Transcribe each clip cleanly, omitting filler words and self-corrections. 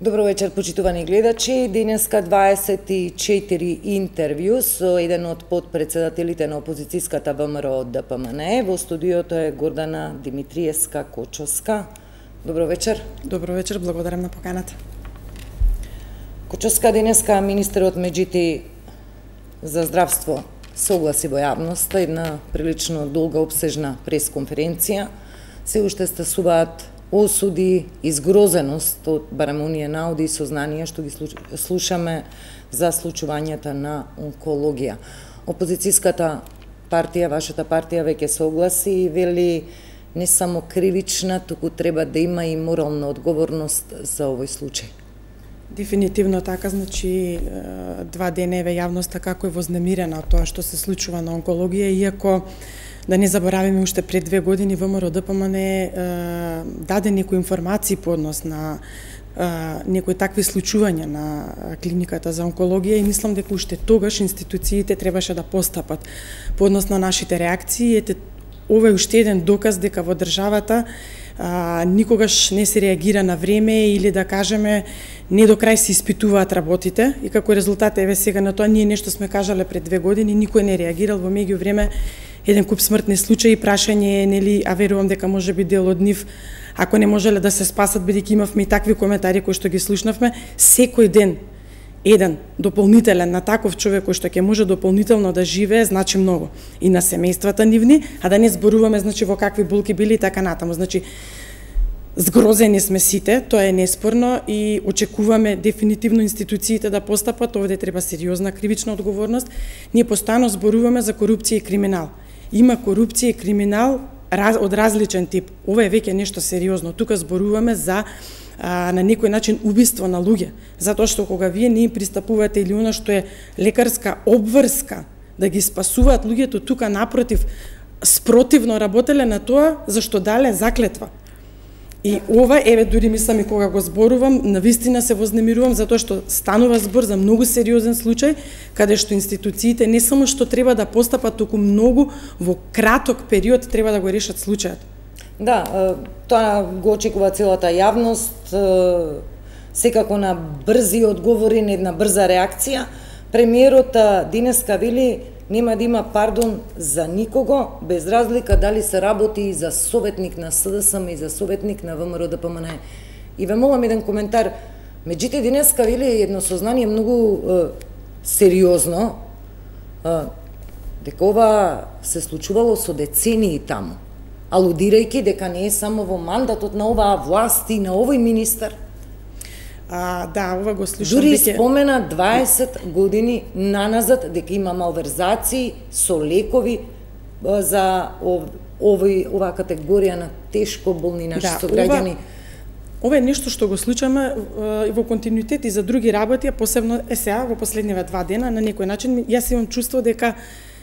Добро вечер, почитувани гледачи. Денеска 24 интервју со еден од подпредседателите на опозицијската ВМРО ДПМН. Во студиото е Гордана Димитриевска-Кочовска. Добро вечер. Добро вечер, благодарам на поканата. Кочовска, денеска министерот Меджити за здравство се огласи во јавноста, една прилично долга обсежна пресконференција. Се уште стасуваат осуди и згрозеност од барем оние наоди и сознанија што ги слушаме за случувањата на онкологија. Опозицијската партија, вашата партија, веќе се огласи и вели не само кривична, туку треба да има и морална одговорност за овој случај. Дефинитивно така, значи 2 дена еве јавноста како е вознемирена од тоа што се случува на онкологија, иако да не заборавиме уште пред 2 години ВМРО ДПМН даде некои информации по однос на некои такви случувања на клиниката за онкологија и мислам дека уште тогаш институциите требаше да постапат по однос на нашите реакции. Ете, ова е уште еден доказ дека во државата никогаш не се реагира на време или да кажеме не до крај се испитуваат работите и како резултат еве сега на тоа ние нешто сме кажале пред 2 години, никој не реагирал, во меѓувреме еден куп смртни случаи, прашање е, нели, а верувам дека може би дел од нив, ако не можеле да се спасат, бидејќи имавме и такви коментари кои што ги слушнавме, секој ден еден дополнителен на таков човек кој што ќе може дополнително да живее, значи многу и на семејствата нивни, а да не зборуваме значи во какви болки били и така натаму. Значи згрозени сме сите, тоа е неспорно и очекуваме дефинитивно институциите да постапат, овде треба сериозна кривична одговорност. Ние постојано зборуваме за корупција и криминал. Има корупција и криминал од различен тип. Ова е веќе нешто сериозно. Тука зборуваме за на некој начин убиство на луѓе, затоа што кога вие не им пристапувате или она што е лекарска обврска да ги спасуваат луѓето, тука напротив спротивно работеле на тоа зашто дале заклетва. И ова, еве, дури мислам и кога го зборувам, навистина се вознемирувам затоа што станува збор за многу сериозен случај, каде што институциите не само што треба да постапат, туку многу во краток период треба да го решат случајот. Да, тоа го очекува целата јавност, секако на брзи одговори, на една брза реакција. Премиерот денеска вели нема да има пардон за никого, без разлика дали се работи за советник на СДСМ и за советник на ВМРО ДПМН. И ве молам еден коментар. Меѓутоа денеска вели едно сознание многу сериозно, дека ова се случувало со децении таму, алудирајќи дека не е само во мандатот на оваа власт и на овој министар. Да, ова го слушам. Дури спомена 20 години наназад дека има малверзации со лекови за оваа категорија на тешко болни наши сограѓани. Ова е нешто што го случаме во континуитет и за други работи, а посебно сега во последниве 2 дена на некој начин јас имам чувство дека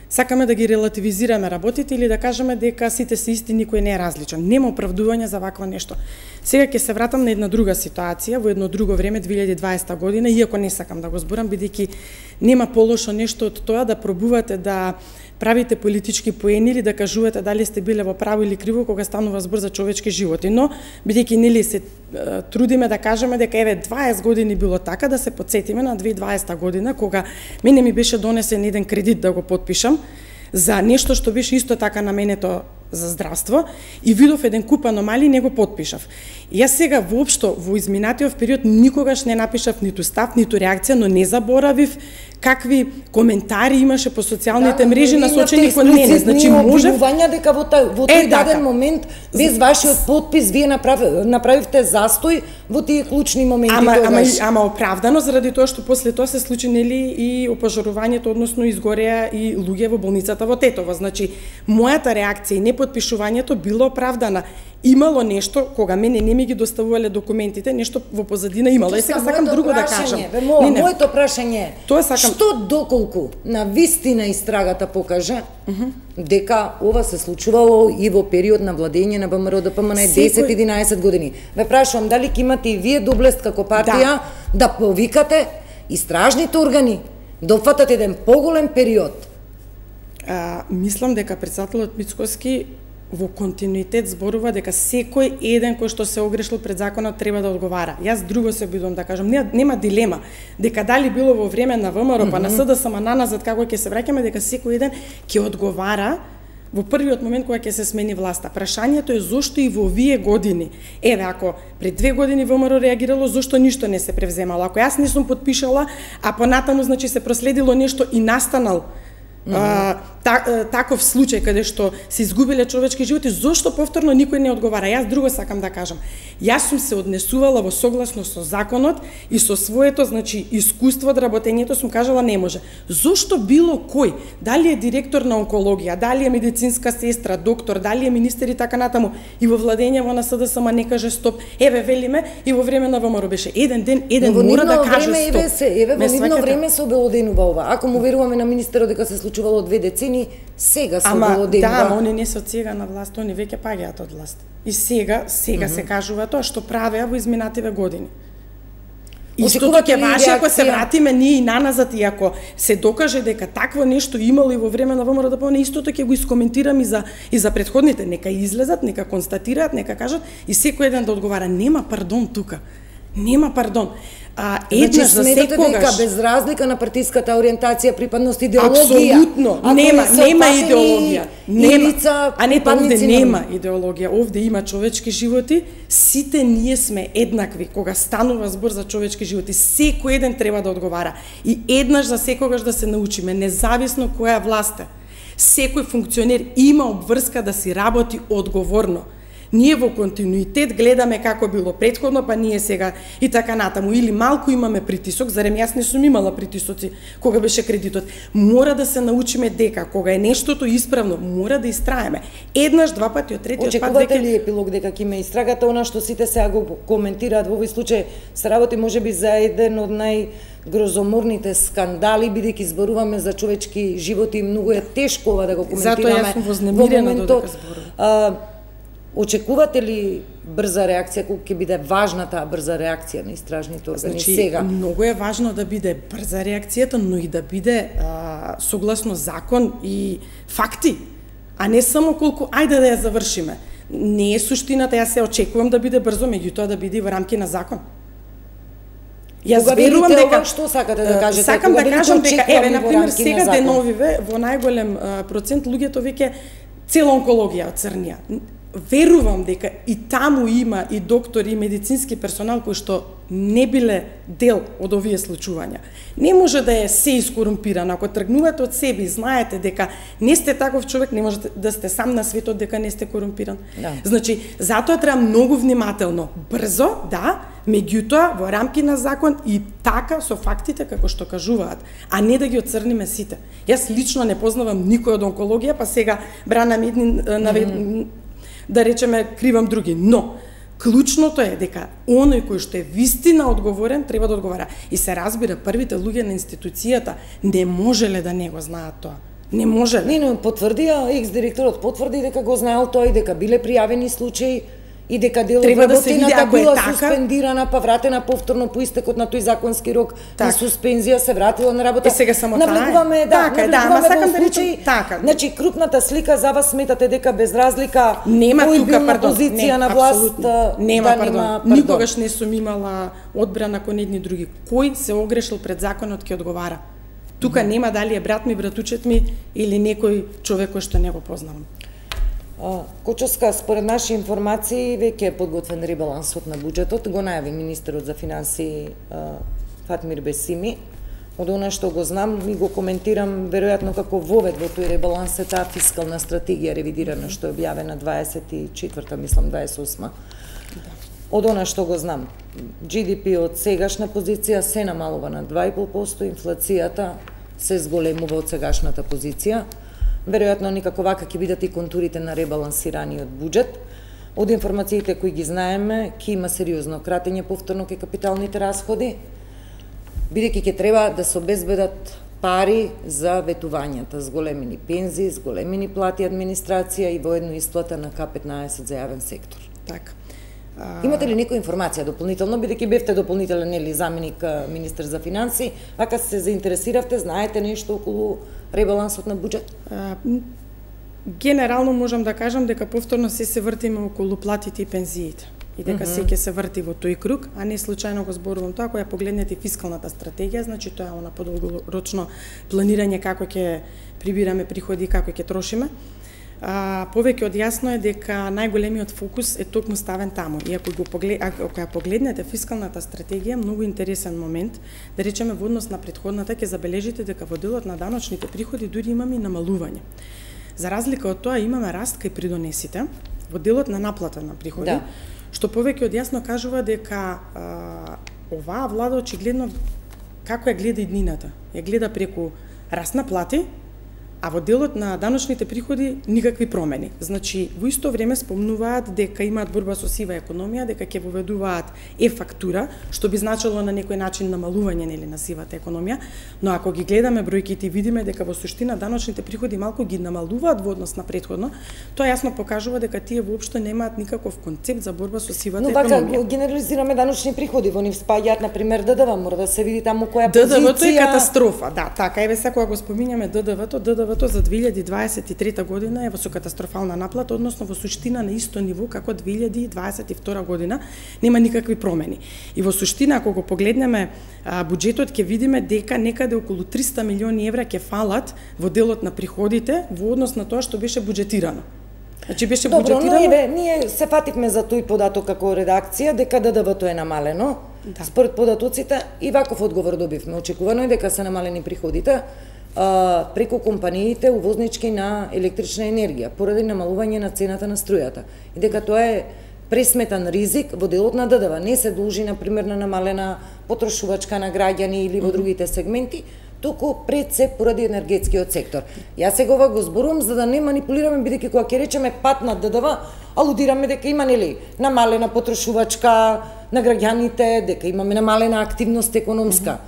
сакаме да ги релативизираме работите или да кажеме дека сите се исти, никој не е различен. Нема оправдување за вакво нешто. Сега ќе се вратам на една друга ситуација, во едно друго време, 2020 година, иако не сакам да го зборам, бидејќи нема полошо нешто од тоа да пробувате да правите политички поени или да кажувате дали сте биле во право или криво кога станува збор за човечки животи. Но, бидејќи нели се трудиме да кажеме дека еве 20 години било така, да се потсетиме на 2020 година, кога мене ми беше донесен еден кредит да го потпишам за нешто што беше исто така наменето за здравство и видов еден куп аномалии, не го потпишав. И јас сега воопшто во изминатиот период никогаш не напишав ниту став, ниту реакција, но не заборавив какви коментари имаше по социјалните мрежи насочени кон мене. Значи можев дека во тој даден момент без вашиот потпис вие направивте застој во тие клучни моменти тогаш. Ама оправдано заради тоа што после тоа се случи нели и опожарувањето, односно изгореа и луѓе во болницата во Тетово. Значи мојата реакција и непотпишувањето било оправдана. Имало нешто, кога мене не ми ги доставувале документите, нешто во позадина имало. Сега сакам друго да кажам. Моето прашање е, што доколку на вистина истрагата покаже дека ова се случувало и во период на владење на ВМРО ДПМН 10-11 години. Ве прашувам дали ќе имате и вие доблест како партија да повикате истражните органи, да опфатат еден поголем период. Мислам дека председателот Мицкоски во континуитет зборува дека секој еден кој што се огрешил пред законот треба да одговара. Јас друго се обидувам да кажам, нема дилема дека дали било во време на ВМРО па на СДСМ наназад како ќе се враќаме, дека секој еден ќе одговара во првиот момент кога ќе се смени власта. Прашањето е зошто и во овие години. Еве, ако пред 2 години ВМРО реагирало, зошто ништо не се превземало? Ако јас не сум потпишала, а понатаму значи се проследило нешто и настанал таков случај каде што се изгубиле човечки животи, зошто повторно никој не одговара? Јас друго сакам да кажам. Јас сум се однесувала во согласно со законот и со своето, значи, искуство од работењето, сум кажала не може. Зошто било кој, дали е директор на онкологија, дали е медицинска сестра, доктор, дали е министер и така натаму, и во владењето на СДСМ не каже стоп, еве велиме и во време на ВМРО беше еден ден, мора да каже стоп. Еве во нивно време се обелоденува ова. Ако му веруваме на министерот дека се случувало 2 децени, сега се обелоденува. Да, они не се од сега на власт, они веќе паѓаат од власт. И сега се кажува тоа што правеа во изминативе години. Истото ќе важи ако се вратиме ние и наназад, и ако се докаже дека такво нешто имало и во време на ВМРО ДПМН, истото ќе го искоментирам и за претходните. Нека излезат, нека констатираат, нека кажат и секој еден да одговара. Нема пардон тука. Нема пардон. Еднаш за секогаш. Дека без разлика на партиската ориентација, припадност, идеологија. Апсолутно. Нема идеологија. Овде нема идеологија. Овде има човечки животи. Сите ние сме еднакви кога станува збор за човечки животи. Секој еден треба да одговара. И еднаш за секогаш да се научиме, независно која власт е. Секој функционер има обврска да си работи одговорно. Ние во континуитет гледаме како било претходно, па ние сега и така натаму. Или малку имаме притисок, зарем јас не сум имала притисоци кога беше кредитот. Мора да се научиме дека кога е нештото исправно, мора да истраеме. Еднаш, два пати, од третиот пат веќе... Очекувате ли епилог дека ќе ме истрагате она што сите сега го коментираат во овој случај, се работи можеби за еден од најгрозоморните скандали, бидејќи зборуваме за човечки животи, многу е тешко ова да го коментираме. Затоа јас сум вознемирена додека зборувам. Очекувате ли брза реакција, колку ќе биде важна таа брза реакција на истражните органи сега? Многу е важно да биде брза реакцијата, но и да биде согласно закон и факти, а не само колку ајде да ја завршиме. Не е суштината, јас се очекувам да биде брзо, меѓутоа да биде во рамки на закон. Јас верувам дека што сакате да кажете? Сакам да кажам дека еве на пример сега деновиве во најголем процент луѓето веќе цела онкологија оцрнија. Верувам дека и таму има и доктори и медицински персонал кои што не биле дел од овие случувања. Не може да е се искорумпиран. Ако тргнувате од себе и знаете дека не сте таков човек, не можете да сте сам на светот дека не сте корумпиран. Да. Значи, затоа треба многу внимателно, брзо, да, меѓутоа во рамки на закон и така со фактите како што кажуваат, а не да ги оцрниме сите. Јас лично не познавам никој од онкологија, па сега бранам едни да речеме кривам други, но клучното е дека оној кој што е вистина одговорен треба да одговара. И се разбира, првите луѓе на институцијата не можеле да не го знаат тоа. Не можеле. Не, но потврдија, екс-директорот потврди дека го знаел тој, дека биле пријавени случаи и дека дел од работината била суспендирана, па вратена повторно по истекот на тој законски рок на суспензија, се вратила на работа. Сега само навлегуваме, ама сакам да речем така. Значи крупната слика за вас сметате дека без разлика нема тука позиција на власт, нема пардон. Никогаш не сум имала одбрана кон едни други. Кој се огрешил пред законот ќе одговара. Тука нема дали е брат ми, братучет ми или некој човек кој што не го познавам. Кочовска, според наши информации, веќе е подготвен ребалансот на буџетот, го најави министерот за финансии Фатмир Бесими. Од она што го знам и го коментирам, веројатно како вовед во тој ребаланс е таа фискална стратегија ревидирана што е објавена 24-та, мислам 28-та. Од она што го знам, GDP од сегашна позиција се намалува на 2,5%, инфлацијата се зголемува од сегашната позиција. Веројатно никако вака ќе бидат и контурите на ребалансираниот буџет. Од информациите кои ги знаеме, ќе има сериозно кратење повторно кај капиталните расходи, бидејќи ќе треба да се обезбедат пари за ветувањата, зголемени пензии, зголемени плати администрација и воедно исплата на К15 за јавен сектор. Така. Имате ли некоја информација дополнително, бидејќи бевте дополнителен нели заменик министер за финансии, вака се заинтересиравте, знаете нешто околу ребалансот на буџет? Генерално можам да кажам дека повторно се вртиме околу платите и пензиите. И дека се ќе се врти во тој круг, а не случајно го зборувам тоа, кога погледнете фискалната стратегија, значи тоа е она подолгорочно планирање како ќе прибираме приходи и како ќе трошиме. Повеќе од јасно е дека најголемиот фокус е токму ставен таму. И ако ја погледнете фискалната стратегија, многу интересен момент, да речеме во однос на претходната, ќе забележите дека во делот на даночните приходи дури имаме и намалување. За разлика од тоа имаме раст кај придонесите во делот на наплата на приходи. Да. Што повеќе од јасно кажува дека оваа влада очигледно како ја гледа иднината. Ја гледа преку раст на плати, а во делот на даночните приходи никакви промени. Значи, во исто време спомнуваат дека имаат борба со сива економија, дека ќе воведуваат е-фактура, што би значило на некој начин намалување нели на сивата економија, но ако ги гледаме бројките и видиме дека во суштина даночните приходи малку ги намалуваат во однос на претходно, тоа јасно покажува дека тие воопшто немаат никаков концепт за борба со сивата економија. Но вака генерализираме даночни приходи, во нив спаѓаат на пример ДДВ, мора да се види таму која позиција. ДДВ-то е катастрофа, да, така еве сега кога го споминјаме ДДВ-то за 2023 година е во со катастрофална наплата, односно во суштина на исто ниво како 2022 година, нема никакви промени. И во суштина, ако го погледнеме буџетот, ќе видиме дека некаде околу 300 милиони евра ќе фалат во делот на приходите во однос на тоа што беше буџетирано. Значи беше буџетирано. Добро, но ние се фативме за тој податок како редакција дека ДДВ-то е намалено. Да. Според податоците и ваков одговор добивме. Очекувано е дека се намалени приходите преку компаниите увознички на електрична енергија, поради намалување на цената на струјата. И дека тоа е пресметан ризик во делот на ДДВ. Не се должи, например, на намалена потрошувачка на граѓани или во другите сегменти, туку пред се поради енергетскиот сектор. Јас сега ова го зборувам за да не манипулираме, бидејќи кога ќе речеме пат на ДДВ, алудираме дека има нели намалена потрошувачка на граѓаните, дека имаме намалена активност економска.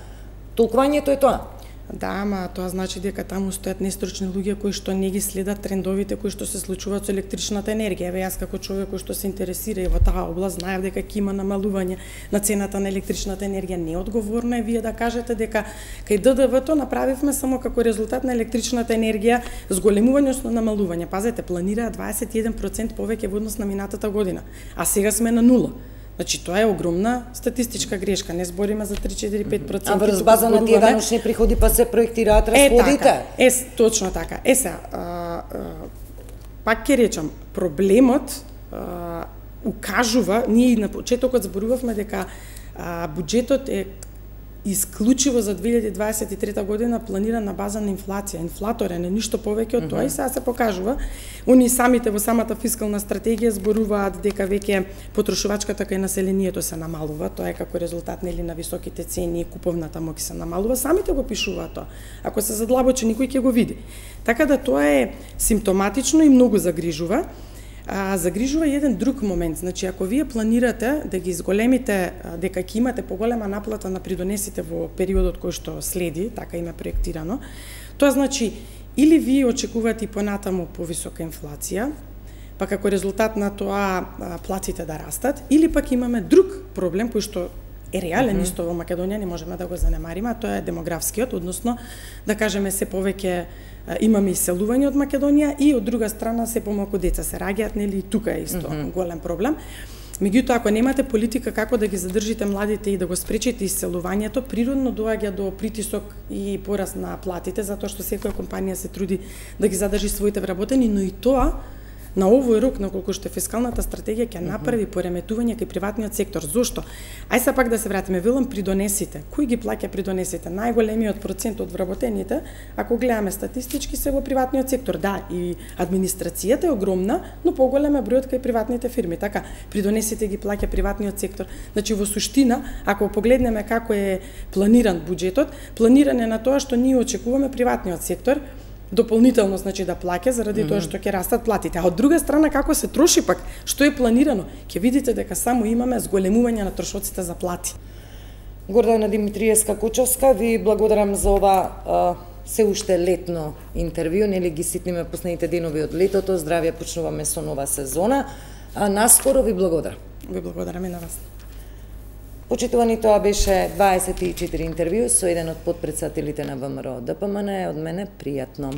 Толкувањето е тоа. Да, ама тоа значи дека таму стојат нестручни луѓе кои што не ги следат трендовите кои што се случуваат со електричната енергија. Еве јас како човек кој што се интересира и во таа област знаев дека ќе има намалување на цената на електричната енергија. Неодговорно е вие да кажете дека кај ДДВ-то направивме само како резултат на електричната енергија зголемување, односно намалување. Пазете, планираа 21% повеќе во однос на минатата година, а сега сме на 0. Значи, тоа е огромна статистичка грешка, не збориме за 3-4-5%. А врз база на тие даночни приходи па се проектираат расходите? Точно така. Пак ќе речам, проблемот укажува, ние и на почетокот зборувавме дека буџетот е исклучиво за 2023 година планиран на база на инфлација. Инфлаторен е ништо повеќе од тоа и сега се покажува. Они самите во самата фискална стратегија зборуваат дека веќе потрошувачката кај населението се намалува, тоа е како резултат нели на високите цени и куповната моќ се намалува, самите го пишуваат тоа. Ако се задлабочи никој ќе го види. Така да тоа е симптоматично и многу загрижува. Загрижува еден друг момент. Значи, ако вие планирате да ги изголемите, дека ќе имате поголема наплата на придонесите во периодот кој што следи, така има проектирано, тоа значи или вие очекувате и понатаму повисока инфлација, па како резултат на тоа платите да растат, или пак имаме друг проблем кој што е реален исто во Македонија, не можеме да го занемариме, а тоа е демографскиот, односно да кажеме се повеќе имаме иселување од Македонија и од друга страна се помалку деца се раѓаат, нели, тука е исто голем проблем. Меѓутоа, ако немате политика како да ги задржите младите и да го спречите иселувањето, природно доаѓа до притисок и пораст на платите, затоа што секоја компанија се труди да ги задржи своите вработени, но и тоа на овој рок, на колку што фискалната стратегија ќе направи пореметување кај приватниот сектор. Зошто? Ај се пак да се вратиме, велам придонесите. Кој ги плаќа придонесите? Најголемиот процент од вработените, ако гледаме статистички, се во приватниот сектор. Да, и администрацијата е огромна, но поголем е бројот кај приватните фирми. Така, придонесите ги плаќа приватниот сектор. Значи, во суштина, ако погледнеме како е планиран буџетот, планиран е на тоа што ние очекуваме приватниот сектор дополнително, значи, да плаќа заради тоа што ќе растат платите. А од друга страна, како се троши пак, што е планирано, ќе видите дека само имаме зголемување на трошоците за плати. Гордана Димитриевска-Кучовска, ви благодарам за ова се уште летно интервју, нели ги ситниме последните денови од летото, здравје, почнуваме со нова сезона. Наскоро ви благодарам. Ви благодарам и на вас. Почитувани, тоа беше 24 интервју со еден од потпредседателите на ВМРО ДПМН. Од мене пријатно.